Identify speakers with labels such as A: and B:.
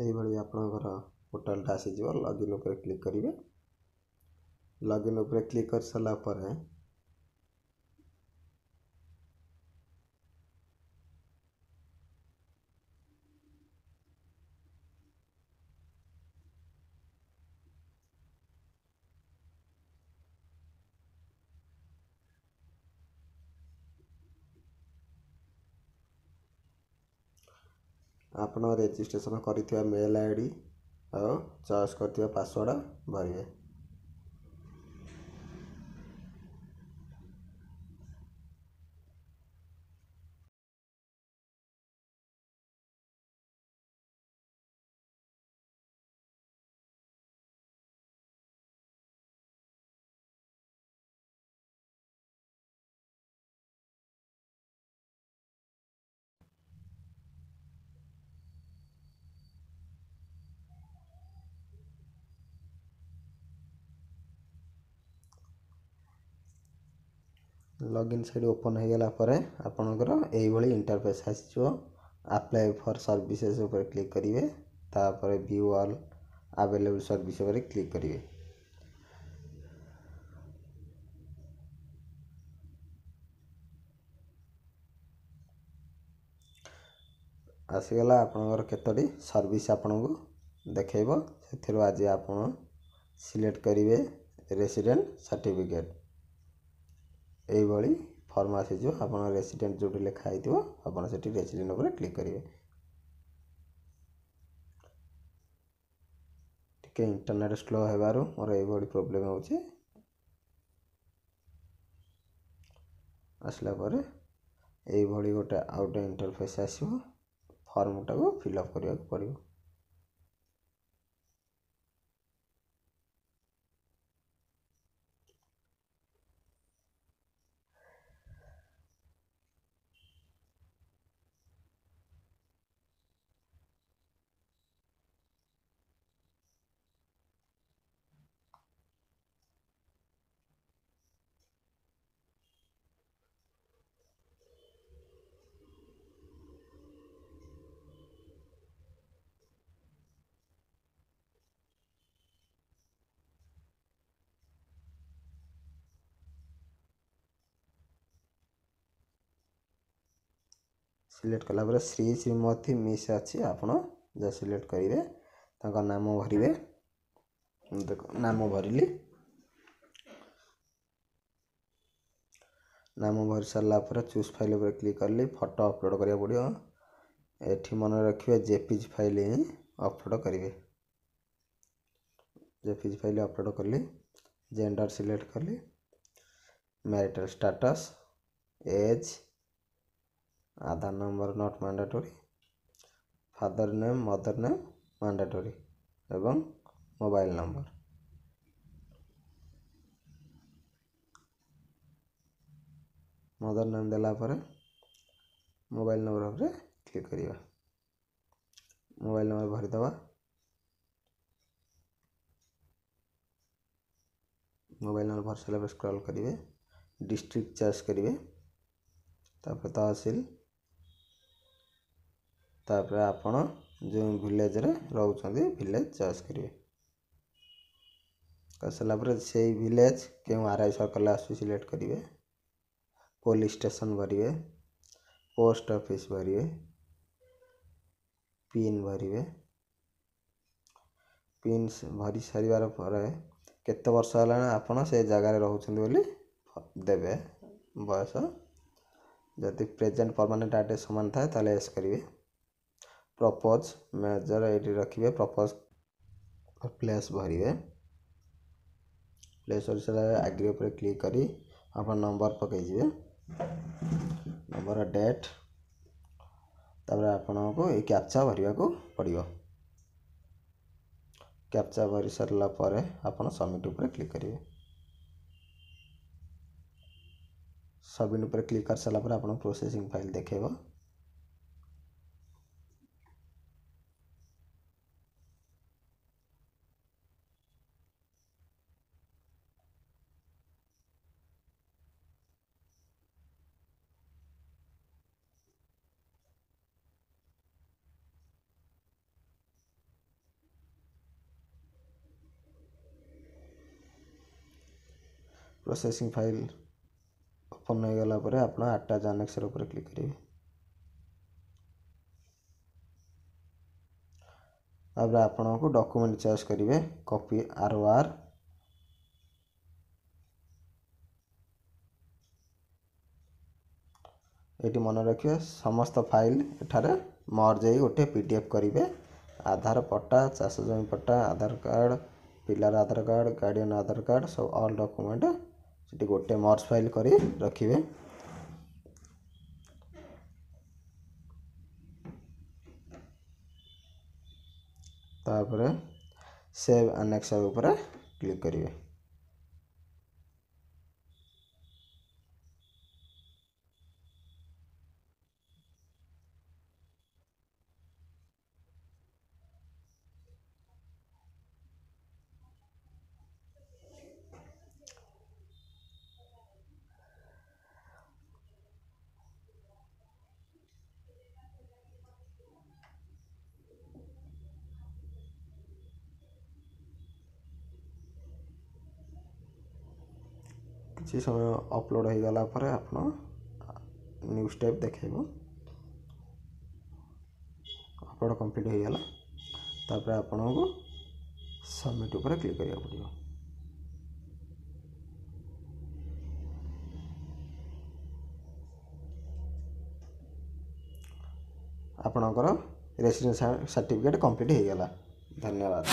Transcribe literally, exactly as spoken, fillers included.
A: ଏଇଭଳି ଆପଣଙ୍କର ପୋର୍ଟାଲଟା ଆସିଯିବ। ଲଗ୍ଇନ୍ ଉପରେ କ୍ଲିକ୍ କରିବେ। ଲଗ୍ଇନ୍ ଉପରେ କ୍ଲିକ୍ କରିସାରିଲା ପରେ ଆପଣ ରେଜିଷ୍ଟ୍ରେସନ୍ କରିଥିବା ମେଲ୍ I D ଆଉ ଚଏସ୍ କରିଥିବା ପାସୱାର୍ଡ଼ ଭରିବେ। ଲଗ୍ଇନ୍ ସାଇଟ୍ ଓପନ୍ ହୋଇଗଲା ପରେ ଆପଣଙ୍କର ଏଇଭଳି ଇଣ୍ଟରଫେସ୍ ଆସିଯିବ। ଆପ୍ଲାଏ ଫର୍ ସର୍ଭିସେସ୍ ଉପରେ କ୍ଲିକ୍ କରିବେ। ତାପରେ ଭ୍ୟୁ ଅଲ୍ ଆଭେଲେବୁଲ୍ ସର୍ଭିସ୍ ଉପରେ କ୍ଲିକ୍ କରିବେ। ଆସିଗଲା ଆପଣଙ୍କର କେତୋଟି ସର୍ଭିସ୍ ଆପଣଙ୍କୁ ଦେଖେଇବ। ସେଥିରୁ ଆଜି ଆପଣ ସିଲେକ୍ଟ କରିବେ ରେସିଡେଣ୍ଟ ସାର୍ଟିଫିକେଟ୍। ଏଇଭଳି ଫର୍ମ ଆସିଯିବ। ଆପଣ ରେସିଡେଣ୍ଟ ଯେଉଁଠି ଲେଖା ହେଇଥିବ, ଆପଣ ସେଠି ରେସିଡେଣ୍ଟ ଉପରେ କ୍ଲିକ୍ କରିବେ। ଟିକେ ଇଣ୍ଟରନେଟ୍ ସ୍ଲୋ ହେବାରୁ ମୋର ଏଇଭଳି ପ୍ରୋବ୍ଲେମ୍ ହେଉଛି। ଆସିଲା ପରେ ଏଇଭଳି ଗୋଟେ ଆଉ ଗୋଟେ ଇଣ୍ଟରଫେସ୍ ଆସିବ। ଫର୍ମଟାକୁ ଫିଲ୍ଅପ୍ କରିବାକୁ ପଡ଼ିବ। ସିଲେକ୍ଟ କଲା ପରେ ଶ୍ରୀ, ଶ୍ରୀମତୀ, ମିସ୍ ଅଛି, ଆପଣ ଯାହା ସିଲେକ୍ଟ କରିବେ। ତାଙ୍କ ନାମ ଭରିବେ। ଦେଖ, ନାମ ଭରିଲି। ନାମ ଭରି ସାରିଲା ପରେ ଚୁଜ୍ ଫାଇଲ୍ ଉପରେ କ୍ଲିକ୍ କଲି। ଫଟୋ ଅପଲୋଡ଼ କରିବାକୁ ପଡ଼ିବ। ଏଠି ମନେ ରଖିବେ, ଜେପିଜି ଫାଇଲ୍ ହିଁ ଅପଲୋଡ଼ କରିବେ। ଜେପିଜି ଫାଇଲ୍ ଅପଲୋଡ଼ କଲି। ଜେଣ୍ଡର ସିଲେକ୍ଟ କଲି, marital status, age, Aadhaar number not mandatory, father name, mother name mandatory ଏବଂ ମୋବାଇଲ୍ ନମ୍ବର। ମଦର ନେମ୍ ଦେଲା ପରେ ମୋବାଇଲ୍ ନମ୍ବର ଉପରେ କ୍ଲିକ୍ କରିବା। ମୋବାଇଲ୍ ନମ୍ବର ଭରିଦେବା। ମୋବାଇଲ୍ ନମ୍ବର ଭରି ସାରିଲା ପରେ ସ୍କ୍ରଲ୍ କରିବେ, ଡିଷ୍ଟ୍ରିକ୍ଟ ଚଏସ୍ କରିବେ, ତାପରେ ତହସିଲ, ତାପରେ ଆପଣ ଯେଉଁ ଭିଲେଜରେ ରହୁଛନ୍ତି ଭିଲେଜ ଚଏସ୍ କରିବେ। କରିସାରିଲା ପରେ ସେଇ ଭିଲେଜ କେଉଁ ଆର୍ I ସର୍କଲ୍ରେ ଆସୁଛି ସିଲେକ୍ଟ କରିବେ। ପୋଲିସ ଷ୍ଟେସନ୍ ଭରିବେ, ପୋଷ୍ଟ ଅଫିସ୍ ଭରିବେ, ପିନ୍ ଭରିବେ। ପିନ୍ ଭରି ସାରିବାର ପରେ କେତେ ବର୍ଷ ହେଲାଣି ଆପଣ ସେ ଜାଗାରେ ରହୁଛନ୍ତି ବୋଲି ଦେବେ ବୟସ। ଯଦି ପ୍ରେଜେଣ୍ଟ ପରମାନେଣ୍ଟ ଆଡ୍ରେସ୍ ସମାନ ଥାଏ, ତାହେଲେ ଏସ୍ କରିବେ। ପ୍ରପୋଜ ମେଜର ଏଇଠି ରଖିବେ। Propose place ଭରିବେ। ପ୍ଲେସ୍ ଭରି ସାରିଲା ପରେ ଆଗ୍ରି ଉପରେ କ୍ଲିକ୍ କରି ଆପଣ ନମ୍ବର ପକାଇଯିବେ, ନମ୍ବର, ଡେଟ୍। ତାପରେ ଆପଣଙ୍କୁ ଏଇ କ୍ୟାପଚା ଭରିବାକୁ ପଡ଼ିବ। କ୍ୟାପଚା ଭରି ସାରିଲା ପରେ ଆପଣ ସବମିଟ୍ ଉପରେ କ୍ଲିକ୍ କରିବେ। ସବମିଟ୍ ଉପରେ କ୍ଲିକ୍ କରିସାରିଲା ପରେ ଆପଣ ପ୍ରୋସେସିଂ ଫାଇଲ୍ ଦେଖେଇବ। ପ୍ରୋସେସିଂ ଫାଇଲ୍ ଓପନ୍ ହୋଇଗଲା ପରେ ଆପଣ ଆଟାଚ୍ ଆନେକ୍ସର ଉପରେ କ୍ଲିକ୍ କରିବେ। ତାପରେ ଆପଣଙ୍କୁ ଡକୁମେଣ୍ଟ ଚଏସ୍ କରିବେ, କପି ଆର୍ ଓ ଆର୍। ଏଇଠି ମନେ ରଖିବେ, ସମସ୍ତ ଫାଇଲ୍ ଏଠାରେ ମର୍ଜ ହେଇ ଗୋଟେ ପି ଡି ଏଫ୍ କରିବେ। ଆଧାର, ପଟ୍ଟା, ଚାଷ ଜମି ପଟ୍ଟା, ଆଧାର କାର୍ଡ଼, ପିଲାର ଆଧାର କାର୍ଡ଼, ଗାର୍ଡ଼ିଆନ୍ ଆଧାର କାର୍ଡ଼, ସବୁ ଅଲ୍ ଡକୁମେଣ୍ଟ ସେଠି ଗୋଟେ ମର୍ଜ ଫାଇଲ୍ କରି ରଖିବେ। ତାପରେ ସେଭ୍ ଆନେକ୍ସର ଉପରେ କ୍ଲିକ୍ କରିବେ। କିଛି ସମୟ ଅପଲୋଡ଼ ହୋଇଗଲା ପରେ ଆପଣ ନ୍ୟୁ ଷ୍ଟେପ୍ ଦେଖାଇବ। ଅପଲୋଡ଼ କମ୍ପ୍ଲିଟ୍ ହୋଇଗଲା। ତାପରେ ଆପଣଙ୍କୁ ସବମିଟ୍ ଉପରେ କ୍ଲିକ୍ କରିବାକୁ ପଡ଼ିବ। ଆପଣଙ୍କର ରେସିଡେନ୍ସ ସାର୍ଟିଫିକେଟ୍ କମ୍ପ୍ଲିଟ୍ ହୋଇଗଲା। ଧନ୍ୟବାଦ।